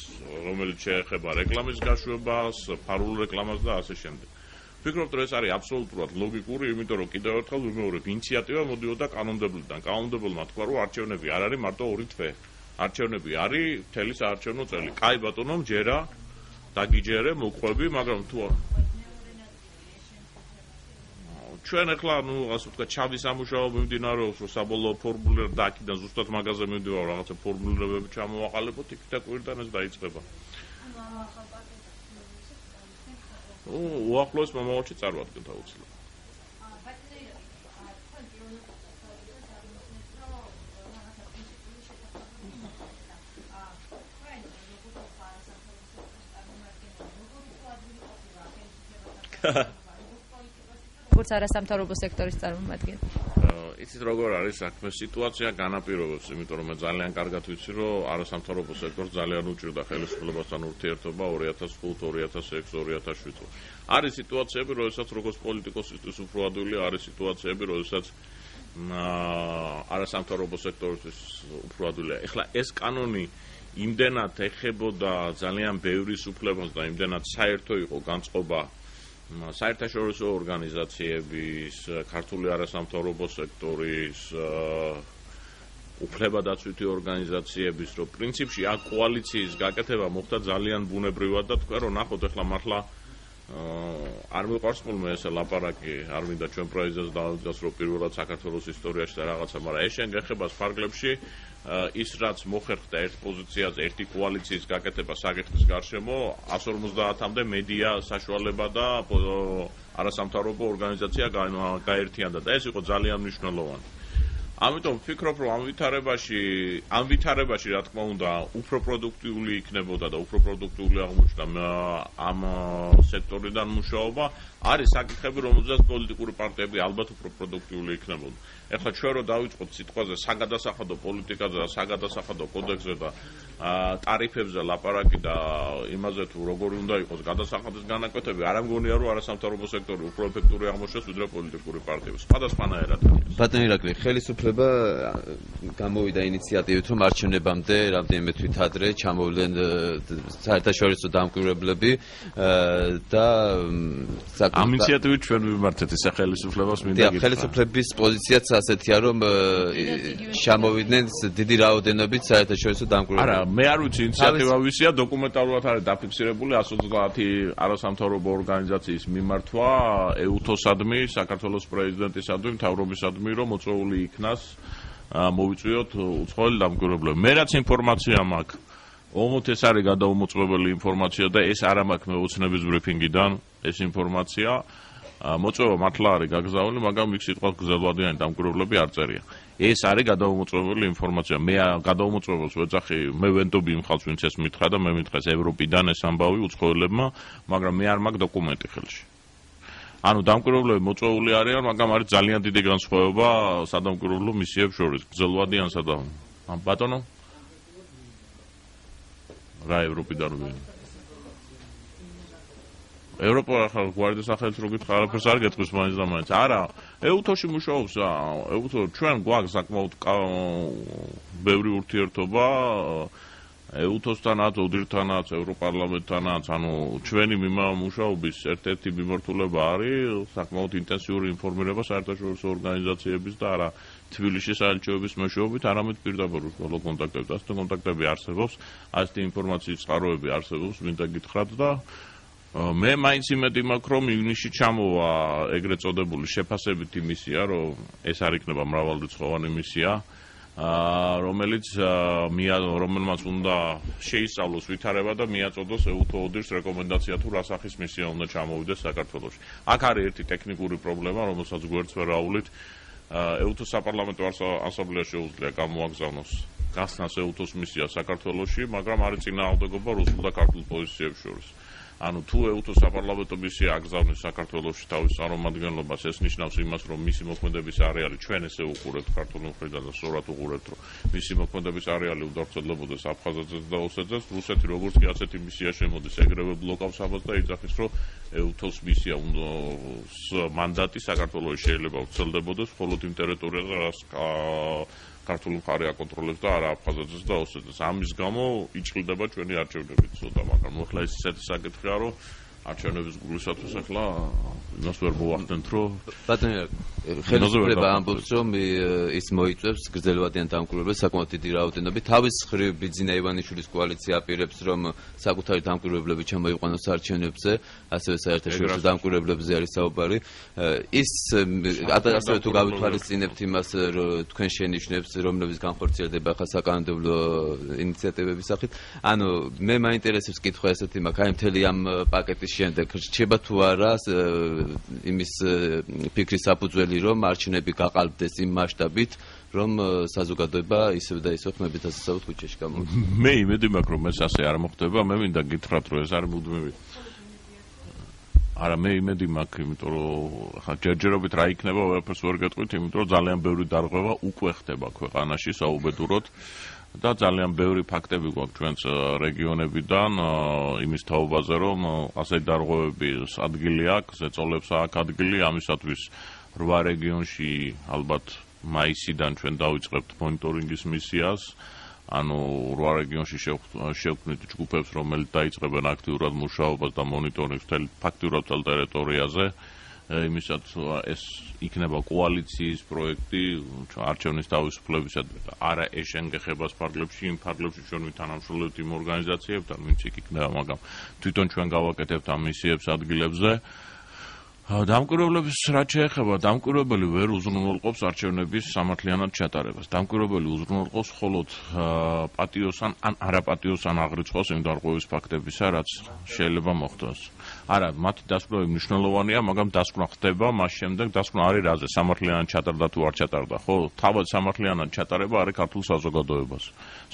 რომელიც შეეხება რეკლამის გაშვებას, ფარულ რეკლამას და ასე შემდეგ. ვფიქრობთ, რომ ეს არის აბსოლუტურად ლოგიკური, იმიტომ რომ კიდევ ერთხელ ვიმეორებ, ინიციატივა მოდიოდა კანონმდებლიდან. კანონმდებელმა თქვა, რომ არჩევნები არ არის მარტო 2 თვე. არჩევნები არის მთელი საარჩევნო წელი. კაი ბატონო, მჯერა, დაგიჯერე, მოყვები, მაგრამ თუ ჩვენ ახლა, ასე ვთქვათ, ჩავი სამუშაო მიმდინარეობს, რომ საბოლოო ფორმულირება და აქედან ზუსტად მაგაზე მივდივარ, რაღაცა ფორმულირებები ჩამოვაყალიბოთ, იქ და კვირიდან ეს დაიწყება. უახლოეს მომავალში წარმოადგენთ აუცილებლად. როგორც არასამთავრობო სექტორის წარმომადგენელი. იცით როგორ არის საქმე, სიტუაცია განაპირობებს, იმიტომ რომ მე ძალიან კარგად ვიცი, რომ არასამთავრობო სექტორს ძალიან უჭირდა ხელისუფლებასთან ურთიერთობა 2005, 2006, 2007. არის სიტუაციები, როდესაც როგორც პოლიტიკოსისთვის უფრო ადვილი, არის სიტუაციები, როდესაც არასამთავრობო სექტორისთვის უფრო ადვილია. ეხლა ეს კანონი იმდენად ეხებოდა ძალიან ბევრი უფლებას და იმდენად საერთო იყო განწყობა საერთაშორისო ორგანიზაციების, ქართული არასამთავრობო სექტორის, უფლებადაცვითი ორგანიზაციების, რომ პრინციპში აქ კოალიციის გაკეთება მოხდა ძალიან ბუნებრივად და თქვა, რომ ნახოთ ახლა მართლა არ მიყვარს ხოლმე ესე ლაპარაკი, არ მინდა ჩვენ პროიზეს დავიძას, რომ პირველად საქართველოს ისტორიაში და რაღაცა, მაგრამ ეს შეგეხება სფარგლებში ის რაც მოხერხდა ერთ პოზიციაზე, ერთი კოალიციის გაკეთება საკითხის გარშემო 150-მდე მედია საშუალება და არასამთავრობო ორგანიზაცია გაერთიანდა და ეს იყო ძალიან მნიშვნელოვანი. ამიტომ ვფიქრობ, რომ ამ ვითარებაში რა თქმა უნდა უფრო პროდუქტიული იქნებოდა და უფრო პროდუქტიული აღმოჩნდა ამ სექტორიდან მუშაობა, არის საკითხები, რომელზეც პოლიტიკური პარტიები ალბათ უფრო პროდუქტიული იქნებოდა. ეხლა ჩვენ რო დავიწყოთ სიტყვაზე საგადასახადო პოლიტიკაზე და საგადასახადო კოდექსზე და ტარიფებზე ლაპარაკი და იმაზე თუ როგორი უნდა იყოს გადასახადის განაკვეთები, არ ამგონია რომ არასამთავრობო სექტორი უფრო ეფექტური აღმოჩნდეს ვიდრე პოლიტიკური პარტიები. სხვადასხვანაირად. ბატონო ირაკლი, ხელისუფლება გამოვიდა ინიციატივით, რომ არჩევნებამდე რამდენიმე თვით ადრე ჩამოვლენ საერთაშორისო დამკვირვებლები და ამ ინიციატივით ჩვენ ვიმართეთ ეს ხელისუფლებას მინდა გითხრა. ხელისუფლების პოზიციაც ასეთია, რომ ჩამოვიდნენ დიდი რაოდენობით საერთაშორისო დამკვირვებლები. არა, მე არ ვიცი ინიციატივა ვისია, დოკუმენტალურად არის დაფიქსირებული 130 არასამთავრობო ორგანიზაციის მიმართვა ეუთოსადმი, საქართველოს პრეზიდენტისადმი, მთავრობისადმი, რომ მოწვეული იქნას მოვიწვიოთ უცხოელი დამკვირვებლები. მე რაც ინფორმაცია მაქვს, ომოთ ეს არის გადაუმოწმებელი ინფორმაცია და ეს არ მაქვს მე უცნების ბრიფინგიდან ეს ინფორმაცია. მოწვევა მართლა არის გაგზავნილი, მაგრამ იქ სიტყვა გრძელვადიანი დამკვირვებლები არ წერია. ეს არის გადაუმოწმებელი ინფორმაცია. მე გადაუმოწმებელს ვეძახი, მე ვენდობი იმ ხალხს, ვინც ეს მითხრა და მე მითხრა ევროპიდან ეს ამბავი უცხოელებმა, მაგრამ მე არ მაქვს დოკუმენტი ხელში. ანუ დამკვირვებლები მოწვეული არიან, მაგრამ არის ძალიან დიდი განსხვავება სადამკვირვებლო მისიებს შორის, გრძელვადიანსა და ბატონო რა ევროპიდან ვინ? ევროპა ახლა გვარდის სახელით რო გითხრა, არაფერს არ გეტყვის მაინც და მაინც. არა, ეუთოში მუშაობს, ეუთო ჩვენ გვაქვს საკმაოდ ბევრი ურთიერთობა EUTOS-თანაც, ODIHR-თანაც, ევროპარლამენტთანაც, ანუ ჩვენი მუშაობის ერთ-ერთი მიმართულება არის საკმაოდ ინტენსიური ინფორმირება საერთაშორისო ორგანიზაციების და არა თბილისის საელჩოების მეშვეობით, არამედ პირდაპირ ბოლო კონტაქტები. ასეთი კონტაქტები არსებობს, ასეთი ინფორმაციის წყაროები არსებობს, მინდა გითხრათ და მე მაინც იმედი მაქვს, რომ ივნისში ჩამოვა ეგრეთ წოდებული შეფასებითი მისია, რომ ეს არ იქნება მრავალრიცხოვანი მისია, რომელმაც უნდა შეისწავლოს ვითარება და მიაწოდოს EUTO-ODIHR-ს რეკომენდაცია თუ რა სახის მისია უნდა ჩამოვიდეს საქართველოში. აქ არის ერთი ტექნიკური პრობლემა, რომელსაც გვერდს ვერ აუვლით. EUTO-ს საპარლამენტო ასამბლეას შეუძლია გამოაგზავნოს გასცნას EUTO-ს მისია საქართველოში, მაგრამ არის წინააღმდეგობა რუსულ და ქართულ პოზიციებს შორის. ანუ თუ EUTO-ს საპარლამენტო მისია აგზავნის საქართველოში თავის წარმომადგენლობას, ეს ნიშნავს იმას, რომ მისი მოქმედების არეალი ჩვენ ესე უყურებთ ქართული მხრიდან და სწორად უყურებთ, რომ მისი მოქმედების არეალი უნდა ვრცელდებოდეს აფხაზეთზეც და ოსეთზეც. რუსეთი როგორც კი ასეთი მისია შემოდის, ეგრევე ბლოკავს ამას და იძახის, რომ EUTO-ს მისია მანდატი საქართველოში შეიძლება ვრცელდებოდეს მხოლოდ იმ ტერიტორიაზე, რაც ქართული მხარე აკონტროლებს და არა აფხაზეთზეც და ოსეთზეც. ამის გამო იჭრილდება ჩვენი არჩევნები ცოტა, მაგრამ ახლა ეს ისეთი საკითხია, რომ არჩევნების გულისათვის ახლა იმას ვერ მოვახდენთ, რომ ბატონო ხელისუფლება ამბობს, რომ ის მოიწვევს გრძელვადიან დამკვირვებლებს საკმაოდ დიდი რაოდენობით. თავის მხრივ ბიძინა ივანიშვილის კოალიცია აპირებს, რომ საკუთარი დამკვირვებლები ჩამოიყვანოს არჩევნებზე, ასევე საერთაშორისო დამკვირვებლებზე არის საუბარი. ის ასევე თუ გავითვალისწინებთ იმას, რომ თქვენ შენიშნებს, რომლებიც განხორციელდება ახლა საკანონმდებლო ინიციატივების სახით, ანუ მე მაინტერესებს კითხვა ესეთი მაქვს, აი მთელი ამ პაკეტის შემდეგ რჩება თუ არა იმის ფიქრის საფუძველი, რომ არჩევნები გაყალბდეს იმ მასშტაბით, რომ საზოგადოება ისევ და ისევ ხმებით ასაცავთ ქუჩაში გამოვიდეს. მე იმედი მაქვს, რომ ეს ასე არ მოხდება. მე მინდა გითხრათ, რომ ეს არის მუდმივი. არა, მე იმედი მაქვს, იმიტომ რომ ხა ჯერჯერობით რა იქნება, ვერაფერს ვერ გეტყვით, იმიტომ რომ ძალიან ბევრი დარღვევა უკვე ხდება ქვეყანაში საუბედუროდ. და ძალიან ბევრი ფაქტები გვაქვს ჩვენს რეგიონებიდან იმის თაობაზე, რომ ასეთი დარღვევების ადგილი აქვს, ზეწოლებს აქვს ადგილი, ამისათვის 8 რეგიონში ალბათ მაისიდან ჩვენ დავიწყებთ მონიტორინგის მისიას, ანუ 8 რეგიონში შევქმნით ჯგუფებს, რომელიც დაიწყებენ აქტიურად მუშაობას და მონიტორინგს ფაქტიურად მთელ ტერიტორიაზე. იმისაც ეს იქნება კოალიციის პროექტი არჩევნის თავისუფლებისა და არა ეშენგეხებას ფარგლებში, იმ ფარგლებში ჩვენ ვითანამშრომლებთ იმ ორგანიზაციებთან, ვინც იქ იქნება, მაგრამ თვითონ ჩვენ გავაკეთებთ ამ მისიებს ადგილებზე. დამკვირვებლების რაც შეეხება, დამკვირვებელი ვერ უზრუნველყოფს არჩევნების სამართლიანად ჩატარებას. დამკვირვებელი უზრუნველყოფს მხოლოდ პატიოსან ან არაპატიოსან აღრიცხვას იმ დარღვევის ფაქტებისა, რაც შეიძლება მოხდეს. არა, მათი დასკვნები მნიშვნელოვანია, მაგრამ დასკვნა ხდება მას შემდეგ, დასკვნა არის რაზე, სამართლიანად ჩატარდა თუ არ ჩატარდა, ხო? თავად სამართლიანად ჩატარება არის ქართულ საზოგადოებას.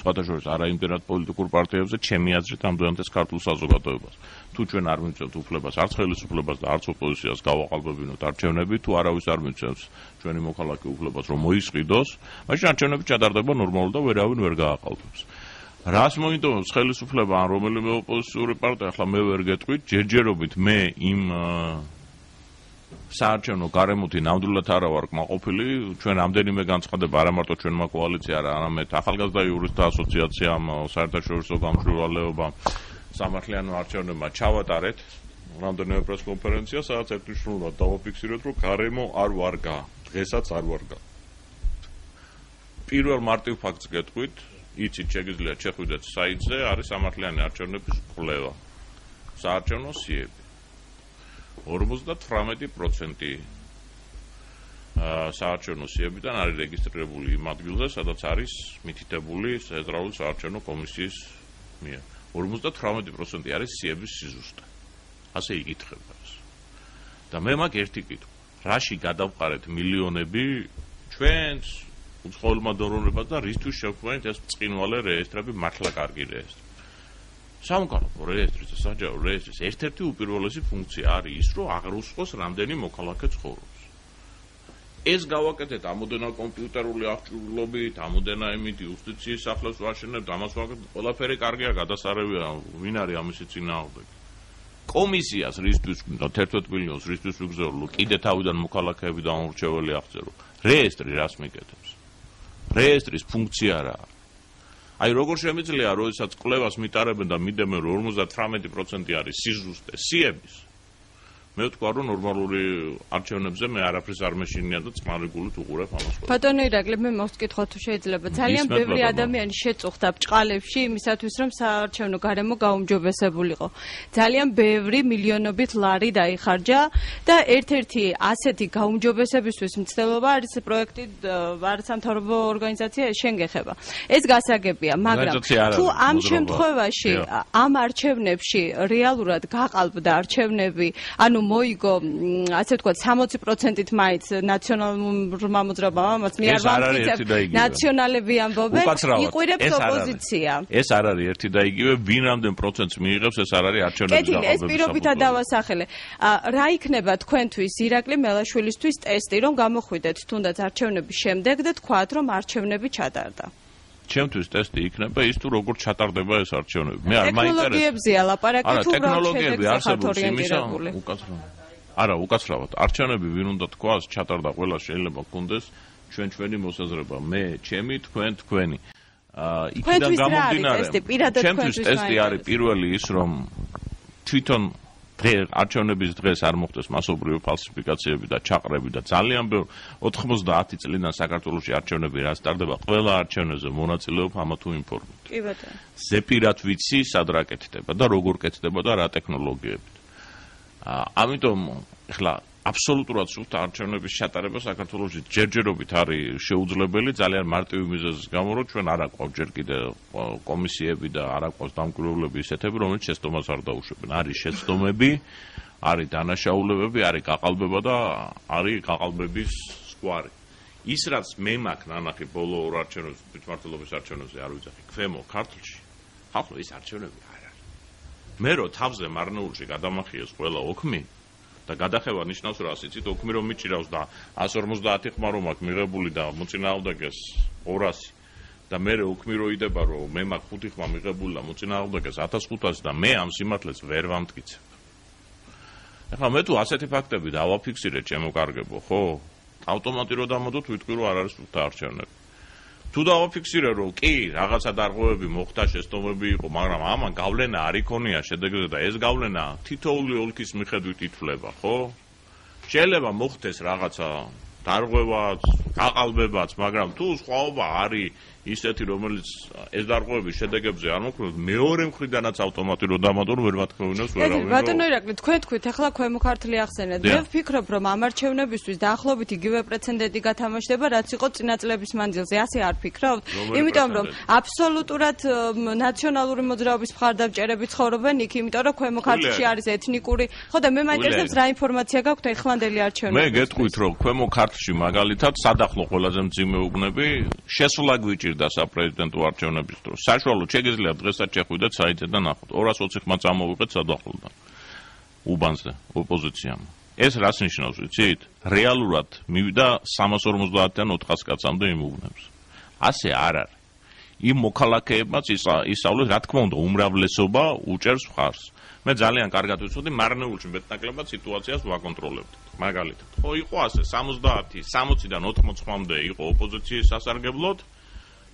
სხვათა შორის არა იმდენად პოლიტიკურ პარტიებზე, ჩემი აზრით, ამდენად ეს ქართულ საზოგადოებას. თუ ჩვენ არ მივწევთ უფლებას, არც ხელისუფლებას და არც ოპოზიციას გავაყალბებინოთ არჩევნები, თუ არავის არ მივწევს ჩვენი მოქალაქე უფლებას, რომ მოისყიდოს, მაშინ არჩევნები ჩატარდება ნორმალურად და ვერავინ ვერ გააყალბებს. რას მოინდომებს ხელისუფლება ან რომელიმე ოპოზიციური პარტია, ახლა მე ვერ გეტყვით, ჯერჯერობით მე იმ საარჩევნო გარემოთი ნამდვილად არა ვარ კმაყოფილი, ჩვენ რამდენიმე განცხადება, არა მარტო ჩვენმა კოალიციამ, არამედ ახალგაზრდა იურისტთა ასოციაციამ, საერთაშორისო გამშვიდობლეობამ, სამართლიანო არჩევნებმა ჩავატარეთ რამდენიმე პრესკონფერენცია, სადაც ერთნიშნულად დავაფიქსირეთ, რომ გარემო არ ვარგა, დღესაც არ ვარგა. პირველ მარტივ ფაქტს გეტყვით, იცით შეგიძლიათ შეხვიდეთ საიტზე, არის სამართლიანი არჩევნების კვლევა. საარჩევნო სიები. 58% საარჩევნო სიებიდან არის რეგისტრირებული იმ ადგილზე, სადაც არის მითითებული ცენტრალური საარჩევნო კომისიის მიერ. 58% არის სიების სიზუსტე. ასე იკითხება ეს. და მე მაქვს ერთი კითხვა. რაში გადავყარეთ მილიონები ჩვენს უცხოელმა დონორებად და რისთვის შევქმნით ეს ბრწყინვალე რეესტრები, მართლა კარგი რეესტრი. სამოქალაქო რეესტრის და საჯარო რეესტრის ერთ-ერთი უპირველესი ფუნქცია არის ის, რომ აღრუსყოს რამდენი მოქალაქე ცხოვრობს. ეს გავაკეთეთ ამოდენა კომპიუტერული აღჭურვილობით, ამოდენა იმით იუსტიციის სახლებს ვაშენებთ, ამას ვაკეთებთ, ყველაფერი კარგია, გადასარევია, ვინ არის ამისი წინააღმდეგი. კომისიას რისთვის გვინდა 11 მილიონს რისთვის ვიგზავნო, კიდე თავიდან მოქალაქეები დაუმორჩეველი აღწერო. რეესტრი რას მიკეთებს? რეესტრის ფუნქცია რა? აი როგორ შემიძლია, როდესაც კვლევას მიტარებენ და მიდემენ, რომ 58% არის სიზუსტე სიების. მე ვთქვა, რომ ნორმალური არჩევნებზე მე არაფერს არ მეშინია და წყნარი გულით უყურებ ამას. ბატონო ირაკლი, მე მოვსკითხო თუ შეიძლება. ძალიან ბევრი ადამიანი შეწუხდა ბჭყალებში იმისათვის, რომ საარჩევნო გარემო გაუმჯობესებულიყო. ძალიან ბევრი მილიონობით ლარი დაიხარჯა და ერთ-ერთი ასეთი გაუმჯობესებისთვის მცდელობა არის პროექტი არასამთავრობო ორგანიზაცია შენ გეხება. ეს გასაგებია, მაგრამ თუ ამ შემთხვევაში ამ არჩევნებში რეალურად გაყალბდა არჩევნები, ანუ მოიგო ასე ვთქვათ 60%-ით მაინც ნაციონალურმა მოძრაობამ ამას მე არ ვამტკიცებ ნაციონალები ამბობენ იყვირებს ოპოზიცია ეს არ არის ერთი და იგივე ვინ რამდენ პროცენტს მიიღებს ეს არ არის არჩევნების გაყალბების ეს პირობითად დავასახელე რა იქნება თქვენთვის ირაკლი მელაშვილისთვის ტესტი რომ გამოხვიდეთ თუნდაც არჩევნების შემდეგ და თქვათ რომ არჩევნები ჩატარდა ჩემთვის ტესტი იქნება ის თუ როგორ ჩატარდება ეს არჩევნები. მე არ მაინტერესებს. ტექნოლოგიებზია ლაპარაკი თუ ტექნოლოგიები არსებობს იმისა, უკაცრავად. არა, უკაცრავად. არჩევნები ვინ უნდა თქვას, ჩატარდა ყველა შეიძლება გქონდეს ჩვენი მოსაზრება. მე, ჩემი, თქვენი. იქიდან გამომდინარე. ჩემთვის ტესტი არის პირველი ის რომ თვითონ არჩევნების დღეს არ მოხდეს მასობრივი ფალსიფიკაციები და ჩაყრები და ძალიან ბევრ 90 წლიდან საქართველოში არჩევნები რა სტარდება ყველა არჩევნებზე მონაწილეობ ამა თუ იმ ფორმით. კი ბატონო. ზეპირად ვიცი სად რა კეთდება და როგორ კეთდება და რა ტექნოლოგიებით. ამიტომ ეხლა აბსოლუტურად სუსტ არჩევნების ჩატარება საქართველოში ჯერჯერობით არის შეუძლებელი ძალიან მარტივი მიზეზის გამო რომ ჩვენ არ აყვავთ ჯერ კიდე კომისიები და არ აყვავს დამკვირვებლები ისეთები რომელიც შეცდომას არ დაუშვებენ არის შეცდომები არის დანაშაულებები არის გაყალბება და არის გაყალბების სკვარი ის რაც მე მაქვს ნანახი ბოლო ორ არჩევნებზე თვითმმართველობის არჩევნებზე არ ვიცახი ქვემო ქართლში ხალხო ის არჩევნები არ არის მე რო თავზე მარნეულში გადამახიეს ყველა ოქმი და გადახევა ნიშნავს რა იცით ოქმი რომ მიჭირავს და 150 ხმა რომ აქვს მიღებული და მოწინააღმდეგეს 200 და მე ოქმი რო იდება რომ მე მაქვს 5 ხმა მიღებული და მოწინააღმდეგეს 1500 და მე ამ სიმართლეს ვერ ვამტკიცებ. ეხლა მე თუ ასეთი ფაქტები დავაფიქსირე ჩემო კარგებო ხო ავტომატი რო დამოდოთ ვიტყვი რომ არ არის სუსტ არჩევნები. თუ დავაფიქსირე რომ კი რაღაცა დარღვევები მოხდა შეცდომები იყო მაგრამ ამან გავლენა არ იქონია შედეგზე და ეს გავლენა თითოეული ოლქის მიხედვით ითვლება ხო შეიძლება მოხდეს რაღაცა დარღვევაც გაყალბებაც მაგრამ თუ სხვაობა არის ისეთი რომელიც ეს დარღვევების შედეგებზე არ მოქმედებს მეორე მხრიდანაც ავტომატი რო დამატონ ვერ მათქოვინებს ვერავინ ბატონო ირაკლი თქვენ თქვით ახლა ქვემო ქართლი ახსენეთ მე ვფიქრობ რომ ამ არჩევნებისთვის დაახლოებით იგივე პრეცედენტი გათამაშდება რაც იყო წინა წლების მანძილზე ასე არ ფიქრობთ იმიტომ რომ აბსოლუტურად ნაციონალური მოძრაობის მხარდამჭერები ცხოვრობენ იქ იმიტომ რომ ქვემო ქართლში არის ეთნიკური ხო და მე მაინტერესებს რა ინფორმაცია გაქვთ ეხლანდელი არჩევნებისთვის მე გეტყვით რომ ქვემო ქართლში მაგალითად სადახლო ყველაზე მძიმე უბნები შესვლა გვიჭირდა საპრეზიდენტო არჩევნების დროს. საშუალოდ შეგიძლიათ დღესაც შეხვიდეთ საიტზე და ნახოთ. 220 ხმა წამოვიღეთ სადახლოდან. უბანზე ოპოზიციამ. ეს რას ნიშნავს, ვიცით? რეალურად მივიდა 350-დან 400 კაცამდე იმ უბნებს. ასე არ არის. იმ მოქალაქეებმაც ისწავლეს, რა თქმა უნდა, უმრავლესობა უჭერს მხარს. მე ძალიან კარგად ვიცოდი, მარნეულში მეტნაკლებად სიტუაციას ვაკონტროლებდით. მაგალითად, ხო იყო ასე 70, 60-დან 80 ხმამდე იყო ოპოზიციის სასარგებლოდ.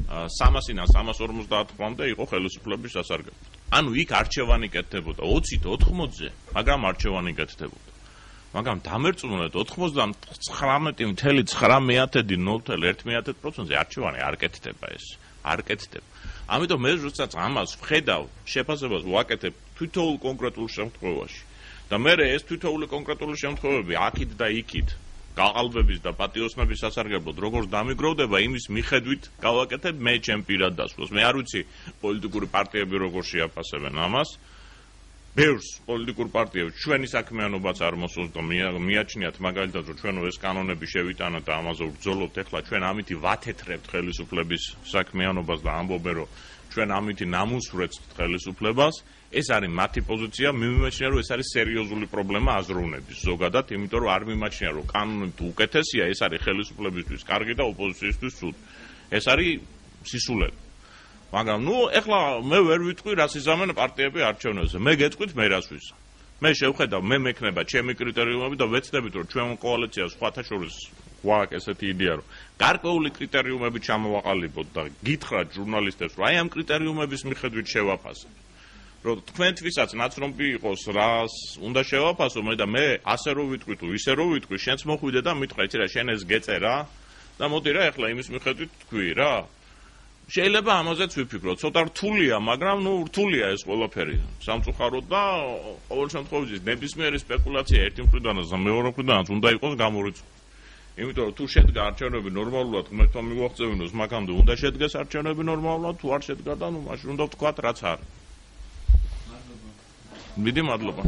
300-დან 350 ხმამდე იყო ხელისუფლების სასარგებლოდ. ანუ იქ არჩევანი კეთდებოდა 20-ით 80-ზე, მაგრამ არჩევანი კეთდებოდა. მაგრამ დამერწმუნეთ 99.9%-ზე არჩევანი არ კეთდება ეს. არ კეთდება. ამიტომ მე როდესაც ამას ვხედავ, შეფასებას ვაკეთებ თითოეულ კონკრეტულ შემთხვევაში. და მე ეს თითოეული კონკრეტული შემთხვევები აქეთ და იქით გაყალბების და პატიოსნების სასარგებლოდ როგორც დამიგროვდება იმის მიხედვით გავაკეთებ მე ჩემ პირად დასვლას. მე არ ვიცი პოლიტიკური პარტიები როგორ შეაფასებენ ამას. ბევრს პოლიტიკურ პარტიებს ჩვენი საქმიანობაც არ მოსწონს და მიაჩნიათ მაგალითად რომ ჩვენ ეს კანონები შევიტანოთ და ამაზე ვბრძოლობთ ეხლა ჩვენ ამითი ვათეთრებთ ხელისუფლების საქმიანობას და ამბობენ რომ ჩვენ ამითი ნამუსვრეთთ ხელისუფლებას. ეს არის მათი პოზიცია, მიმაჩნია რომ ეს არის სერიოზული პრობლემა აზროვნების ზოგადად, იმიტომ რომ არ მიმაჩნია რომ კანონი თუ უკეთესია, ეს არის ხელისუფლებისთვის კარგი და ოპოზიციისთვის ცუდი. ეს არის სისულელი. მაგრამ ნუ ეხლა მე ვერ ვიტყვი რას იზამენ პარტიები არჩევნებზე. მე გეტყვით მე რას ვიზამ. მე შევხედავ მე მექნება ჩემი კრიტერიუმები და ვეცდებით რომ ჩვენ კოალიციას სხვათა შორის გვაქვს ესეთი იდეა, რომ გარკვეული კრიტერიუმები ჩამოვაყალიბოთ და გითხრათ ჟურნალისტებს, რომ აი ამ კრიტერიუმების მიხედვით შევაფასოთ. რომ თქვენთვისაც ნაცნობი იყოს, რას უნდა შევაფასო, და მე ასე რო ვიტყვი თუ ისე რო ვიტყვი, შენც მოხვიდე და მითხრა, იცი რა, შენ ეს გეწერა და მოდი რა, ეხლა იმის მიხედვით თქვი რა. შეიძლება ამაზეც ვიფიქროთ, ცოტა რთულია, მაგრამ რთულია ეს ყველაფერი სამწუხაროდ და ყოველ შემთხვევაში ნებისმიერი სპეკულაცია ერთი მხრიდანაც და მეორე მხრიდანაც უნდა იყოს გამორიცხული. იმიტომ რომ თუ შედგა არჩევნები ნორმალურად ღმერთმა მიგვაღწევინოს, მაგამდე უნდა შედგეს არჩევნები ნორმალურად, თუ არ შედგა და მაშინ უნდა ვთქვათ რაც არის. მადლობა. მიდი მადლობა.